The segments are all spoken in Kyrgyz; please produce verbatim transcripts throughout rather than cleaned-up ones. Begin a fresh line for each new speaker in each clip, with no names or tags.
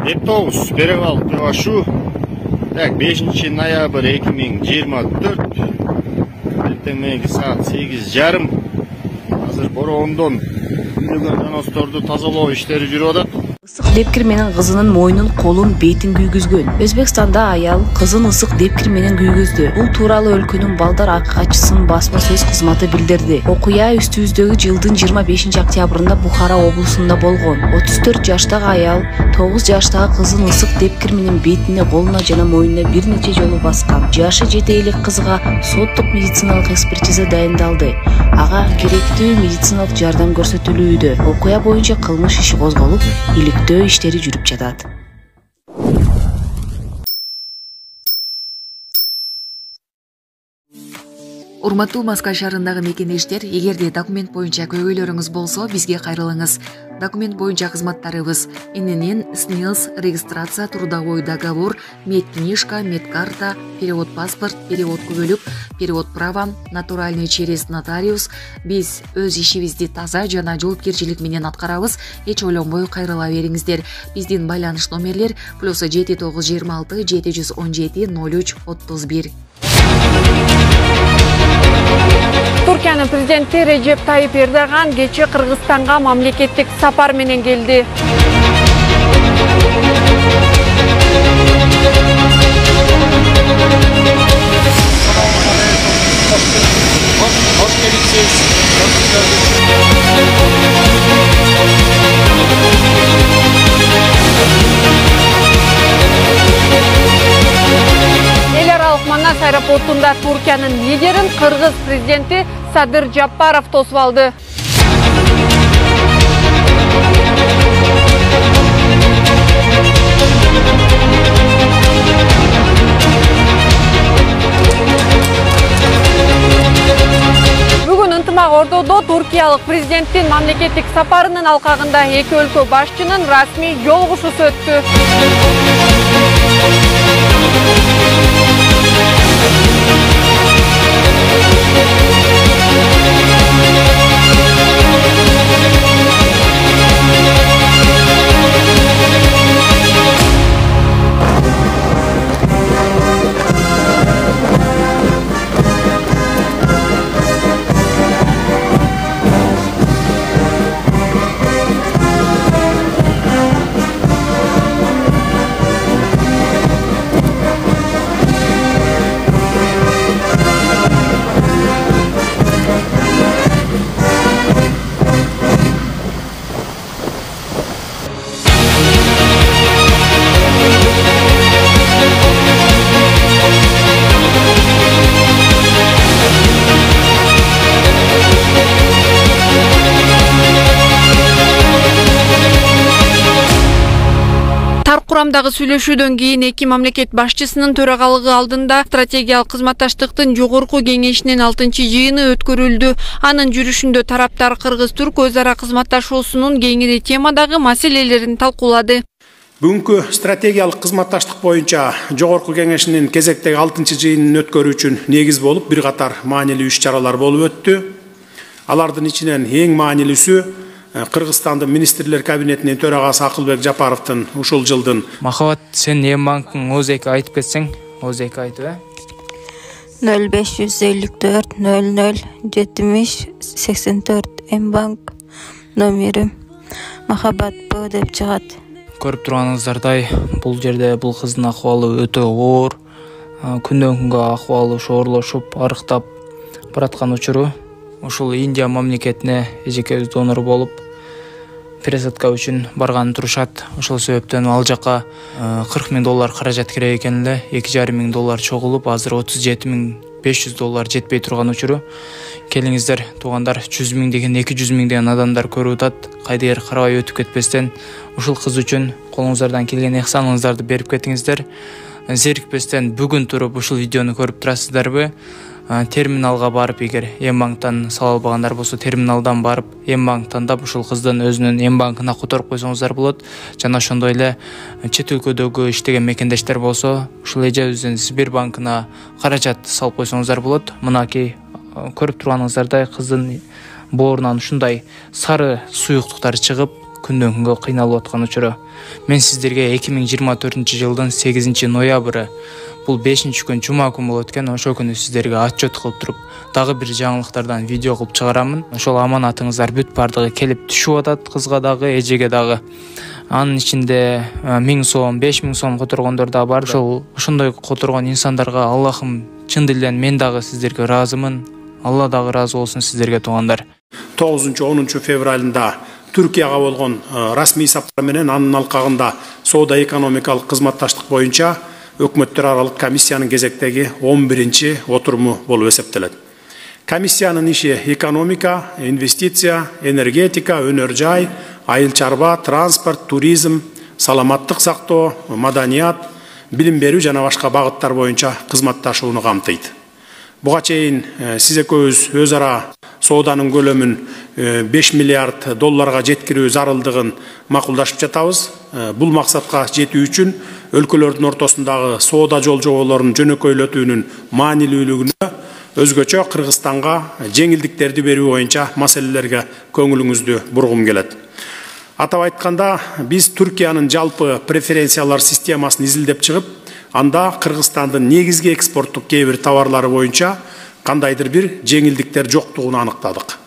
Эп тогуз перевал Кывашу. Так, бешинчи ноябрь эки миң жыйырма төрт. Эртең мененки саат сегиз жарым. Азыр бороондон үйлөгөн жаносторду тазалоо иштери жүрүп атат.
Ысык депкир менен кызынын мойнун, колун, бетин күйгүзгөн. Өзбекстанда аял кызын ысык депкир менен күйгүздү. Бул тууралуу өлкөнүн балдар акыгачысынын басма сөз кызматы билдирди. Окуя үстүбүздөгү жылдын жыйырма бешинчи октябрында Бухара облусунда болгон. отуз төрт жаштагы аял тогуз жаштагы кызын ысык депкир менен бетине, колуна жана мойнуна бир нече жолу баскан. Жашы жете элек кызга соттук медициналык экспертиза дайындалды. Ага керектүү медициналык жардам көрсөтүлүүдө. Окуя боюнча кылмыш иши козголуп, иликтөө иштери жүрүп жатат.
Урматтуу Маскал шаарындагы мекенештер, эгерде документ боюнча көйгөйлөрүңүз болсо, бизге кайрылыңыз. Документ боюнча кызматтарыбыз: эн эн эн, СНИЛС, регистрация, трудовой договор, медкнижка, медкарта, перевод паспорт, перевод күбөлүк, перевод права, натуральный через нотариус. Биз өз ишибизди таза жана жоопкерчилик менен аткарабыз. Эч ойлонбой кайрыла бериңиздер. Биздин байланыш номерлер плюс жети тогуз жыйырма алты жети жүз он жети ноль үч отуз бир.
Туркиянын президенти Режеп Тайип Эрдоган кечээ Кыргызстанга мамлекеттик сапар менен келди. Эл аралык Манас аэропортунда Туркиянын лидерин Кыргыз президенти Садыр Жапаров тосуп алды. Бүгүн ынтымак ордодо туркиялык президенттин мамлекеттик сапарынын алкагында эки өлкө башчынын расмий жолугушуусу өттү. Курамдагы сүйлөшүүдөн кийин эки мамлекет башчысынын төрагалыгы алдында стратегиялык кызматташтыктын жогорку кеңешинин алтынчы жыйыны өткөрүлдү. Анын жүрүшүндө тараптар Кыргыз-Түрк өз ара кызматташуусунун кеңири темадагы маселелерин талкуулады.
Бүгүнкү стратегиялык кызматташтык боюнча жогорку кеңешинин кезектеги алтынчы жыйынын өткөрүү үчүн негиз болуп бир катар маанилүү иш-чаралар болуп өттү. Алардын ичинен эң маанилүүсү Кыргызстандын министрлер кабинетинин төрагасы Акылбек Жапаровдун ушул жылдын
Махабат, сен эм банктын оз эки айтып кетсең, оз эки айтып э?
нөл беш жүз элүү төрт нөл нөл жетимиш сексен төрт эм банк номери Махабат Б деп чыгат.
Көрүп турганыңыздардай, бул жерде бул кыздын акыбалы өтө оор, күндөн күнгө акыбалы шоорлошуп, арыктап бараткан учуру. Ушул Индия мамлекетине эжекебиз донор болуп, пересадка үчүн барган турушат. Ошол себептен ал жака кырк миң доллар каражат керек экен эле. эки жарым миң доллар чогулуп, азыр отуз жети миң беш жүз доллар жетпей турган учуру. Келиңиздер, туугандар, жүз миң деген эки жүз миң деген адамдар көрүп атат. Кайдыгер карабай өтүп кетпестен, ушул кыз үчүн колуңуздардан келген ыхсаныңыздарды берип кетиңиздер. Зерикпестен бүгүн туруп ушул видеону көрүп турасыздарбы? Терминалга барып, эгер эм банктан сала албагандар болсо, терминалдан барып, эм банк тандап ушул кыздын өзүнүн эм банкына которуп койсоңуздар болот. Жана ошондой эле чет өлкөдөгү иштеген мекендештер болсо, ушул эжебиздин Сбербанкына каражат салып койсоңуздар болот. Мынакей көрүп турганыңыздардай кыздын боорунан ушундай сары суюктуктар чыгып, күндөн күнгө кыйналып аткан учуру. Мен сиздерге эки миң жыйырма төртүнчү жылдын сегизинчи ноябры бул бешинчи күн жума күн болот экен. Ошол күнү сиздерге отчет кылып туруп, дагы бир жаңылыктардан видео кылып чыгарамын. Ошол аманатыңыздар бүт бардыгы келип түшүп атат, кызга дагы, эжеге дагы. Анын ичинде миң сом, беш миң сом которгондор да бар. Ошол ошондой которгон инсандарга Аллахым чын дилден мен дагы сиздерге ыраазымын. Алла дагы ыраазы болсун сиздерге туугандар.
тогузунчу онунчу февралында Түркияга болгон расмий сапар менен анын алкагында соода экономикалык кызматташтык боюнча өкмөттөр аралык комиссиянын кезектеги он биринчи отуруму болуп эсептелет. Комиссиянын иши экономика, инвестиция, энергетика, өнөр жай, айыл чарба, транспорт, туризм, саламаттык сактоо, маданият, билим берүү жана башка багыттар боюнча кызматташууну камтыйт. Буга чейин сиз экөөбүз өз ара сооданын көлөмүн беш миллиард долларга жеткирүү зарылдыгын макулдашып жатабыз. Бул максатка жетүү үчүн өлкөлөрдүн ортосундагы соода жолжоболорун жөнөкөйлөтүүнүн маанилүүлүгүнө өзгөчө Кыргызстанга жеңилдиктерди берүү боюнча маселелерге көңүлүңүздү бургум келет. Атап айтканда, биз Түркиянын жалпы преференциялар системасын изилдеп чыгып, анда Кыргызстандын негизги экспорттук кээ бир товарлары боюнча кандайдыр бир жеңилдиктер жоктугун аныктадык.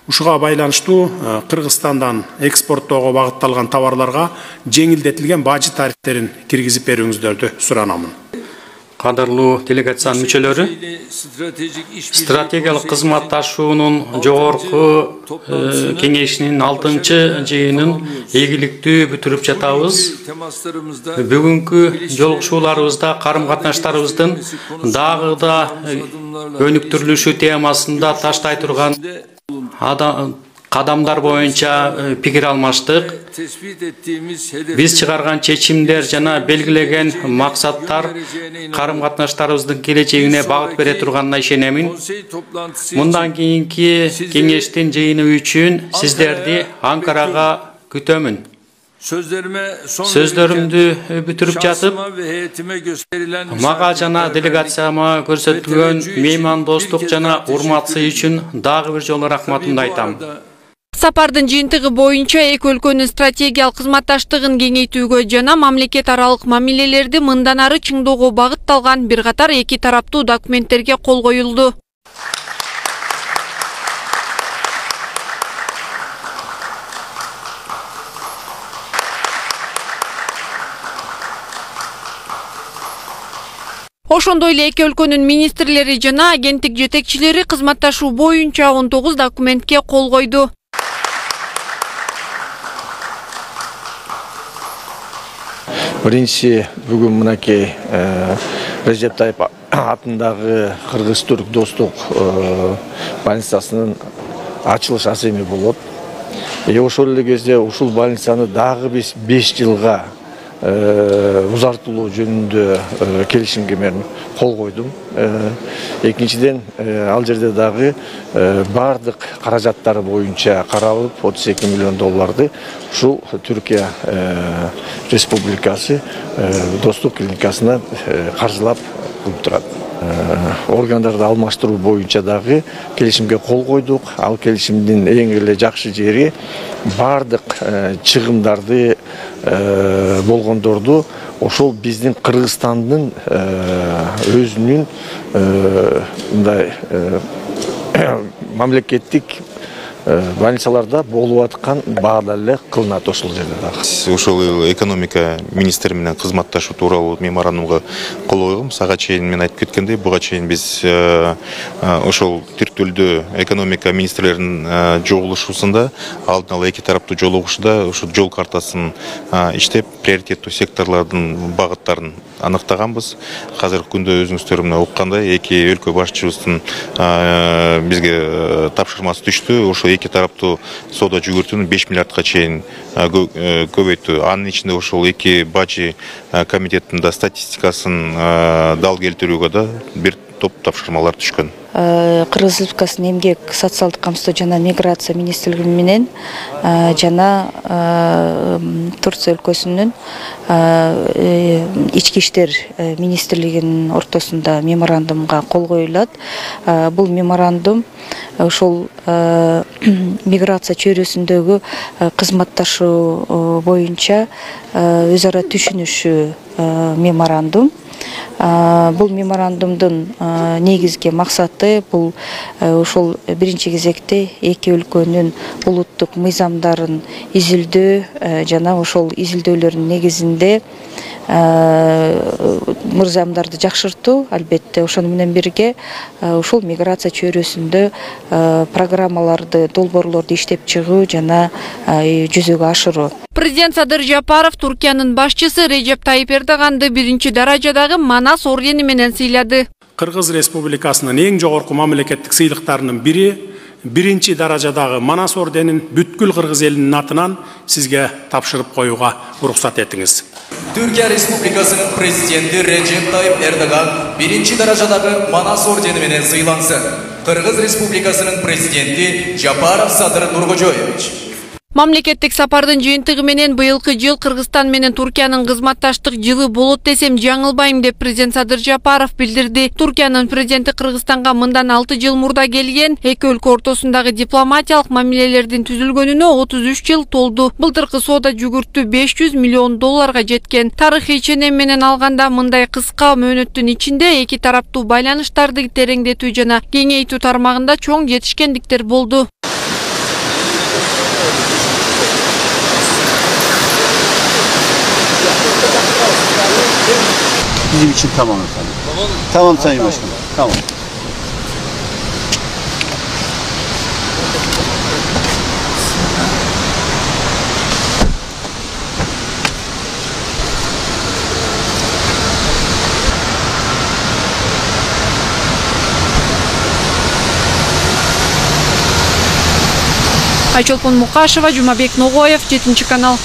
Ушуга байланыштуу Кыргызстандан экспорттоого багытталган товарларга жеңилдетилген бажы тарифтерин киргизип берүүңүздөрдү суранамын.
Кадырлуу делегациянын мүчөлөрү, стратегиялык кызматташуунун жогорку кеңешинин алтынчы жыйынын ийгиликтүү бүтүрүп жатабыз. Бүгүнкү жолугушууларыбызда карым катнаштарыбыздын дагы да өнүктүрүлүшү темасында таштай турган кадамдар боюнча пикир алмаштык. Биз чыгарган чечимдер жана белгилеген максаттар карым катнаштарыбыздын келечегине багыт бере турганына ишенемин. Мындан кийинки кеңештин жыйыны үчүн сиздерди Анкарага күтөмүн. Сөздөрүмдү бүтүрүп жатып, мага жана делегацияма көрсөтүлгөн меймандостук жана урматсы үчүн дагы бир жолу рахматымды айтам.
Сапардын жыйынтыгы боюнча эки өлкөнүн стратегиялык кызматташтыгын кеңейтүүгө жана мамлекет аралык мамилелерди мындан ары чыңдоого багытталган бир катар эки тараптуу документтерге кол коюлду. Ошондой эле эки өлкөнүн министрлери жана агенттик жетекчилери кызматташуу боюнча он тогуз документке кол койду.
Биринчи бүгүн мынакей Режеп Тайып атындагы Кыргыз-Түрк достук больницасынын ачылыш асеми болот. И ошол эле кезде ушул больницаны дагы биз беш жылга узартылуу жөнүндө келишимге мен кол койдум. Экинчиден, ал жерде дагы бардык каражаттары боюнча каралып, отуз эки миллион долларды ушул Түркия Республикасы достук клиникасына каржылап кылып турат. Органдарды алмаштыруу боюнча дагы келишимге кол койдук. Ал келишимдин эң эле жакшы жери бардык чыгымдарды болгондорду ошол биздин Кыргызстандын өзүнүн мындай мамлекеттик больницаларда болуп аткан баада эле кылынат ошол жерде дагы.
Ошол экономика министри менен кызматташуу тууралуу меморандумга кол койгом. Сага чейин мен айтып кеткендей, буга чейин биз ошол түрк тилдүү экономика министрлеринин жогулушуусунда алдын ала эки тараптуу жолугушууда ошол жол картасын иштеп, приоритеттүү секторлордун багыттарын аныктаганбыз. Азыркы күндө өзүңүздөр мына уккандай эки өлкө башчыбыздын бизге тапшырмасы түштү. Ошол эки тараптуу соода жүгүртүүнү беш миллиардка чейин көбөйттү. Анын ичинде ошол эки бажы комитетинин да статистикасын дал келтирүүгө да бир топ тапшырмалар түшкөн.
Кыргыз Республикасынын эмгек, социалдык камсыздоо жана миграция министрлиги менен жана Турция өлкөсүнүн ички иштер министрлигинин ортосунда меморандумга кол коюлат. Бул меморандум ошол миграция чөйрөсүндөгү кызматташуу боюнча өз ара түшүнүшүү меморандум. Бул меморандумдун негизги максаты бул ошол биринчи кезекте эки өлкөнүн улуттук мыйзамдарын изилдөө жана ошол изилдөөлөрдүн негизинде мыйзамдарды жакшыртуу, албетте ошону менен бирге ошол миграция чөйрөсүндө программаларды, долбоорлорду иштеп чыгуу жана жүзөгө ашыруу.
Президент Садыр Жапаров Туркиянын башчысы Режеп Тайип Эрдоганды биринчи даражадагы Манас ордени менен сыйлады.
Кыргыз Республикасынын эң жогорку мамлекеттик сыйлыктарынын бири биринчи даражадагы Манас орденин бүткүл кыргыз элинин атынан сизге тапшырып коюуга уруксат этиңиз.
Түркия Республикасынын президенти Режеп Тайип Эрдоган биринчи даражадагы Манас ордени менен сыйлансын. Кыргыз Республикасынын президенти Жапаров Садыр Нуркожоевич.
Мамлекеттик сапардын жыйынтыгы менен быйылкы жыл Кыргызстан менен Туркиянын кызматташтык жылы болот десем жаңылбайм деп президент Садыр Жапаров билдирди. Туркиянын президенти Кыргызстанга мындан алты жыл мурда келген, эки өлкө ортосундагы дипломатиялык мамилелердин түзүлгөнүнө отуз үч жыл толду. Былтыркы соода жүгүртүү беш жүз миллион долларга жеткен. Тарыхый ченем менен алганда мындай кыска мөөнөттүн ичинде эки тараптуу байланыштарды тереңдетүү жана кеңейтүү тармагында чоң жетишкендиктер болду.
Bizim için tamam efendim. Tamam, tamam Sayın Başkanım. Tamam.
Айчолпон Мукашева, Жумабек Ногоев, жетинчи канал.